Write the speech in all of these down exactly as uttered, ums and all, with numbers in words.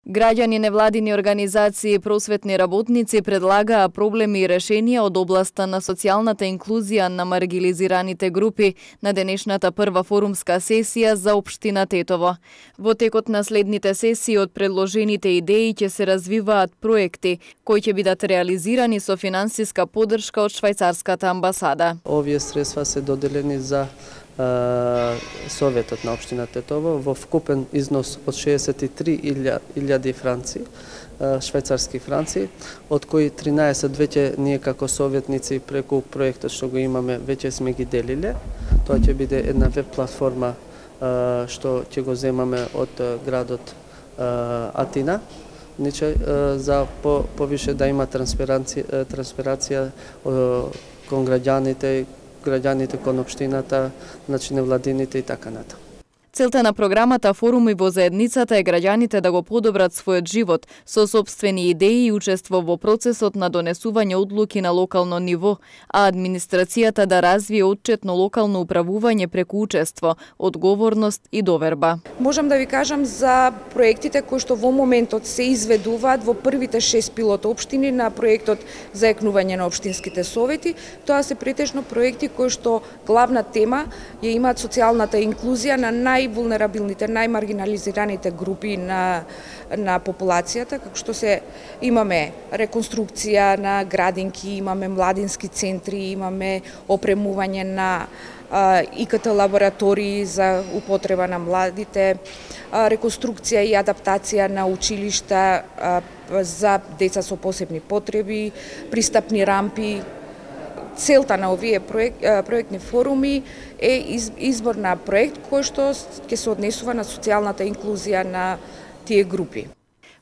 Граѓани, невладини организации и просветни работници предлагаа проблеми и решенија од областа на социјалната инклузија на маргилизираните групи на денешната прва форумска сесија за општина Тетово. Во текот на следните сесии од предложените идеи ќе се развиваат проекти кои ќе бидат реализирани со финансиска поддршка од швајцарската амбасада. Овие средства се доделени за Советот на општина Тетово во вкупен износ од шеесет и три илјади франци, швајцарски франци, од кои тринаесет веќе ние како советници преку проектот што го имаме веќе сме ги делиле. Тоа ќе биде една веб платформа што ќе го земаме од градот Атина, за повише да има трансперација, трансперација кон граѓаните, граѓаните кон општината, значи невладините и така натаму. Целта на програмата Форуми во заедницата е граѓаните да го подобрат својот живот со сопствени идеи и учество во процесот на донесување одлуки на локално ниво, а администрацијата да развие отчетно локално управување преку учество, одговорност и доверба. Можам да ви кажам за проектите кои што во моментот се изведуваат во првите шест пилот општини на проектот за екнување на општинските совети. Тоа се претежно проекти кои што главна тема ја имаат социјалната инклузија на нај највулнерабилните, најмаргинализираните групи на, на популацијата, како што се имаме реконструкција на градинки, имаме младински центри, имаме опремување на И К Т лаборатории за употреба на младите, реконструкција и адаптација на училишта за деца со посебни потреби, пристапни рампи. Целта на овие проект, проектни форуми е избор на проект кој што ќе се однесува на социјалната инклузија на тие групи.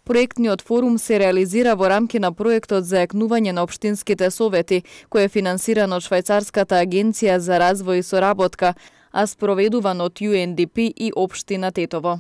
Проектниот форум се реализира во рамки на проектот за екнување на општинските совети, кој е финансиран од Швајцарската агенција за развој и соработка, а спроведуван од Ю Ен Ди Пи и општина Тетово.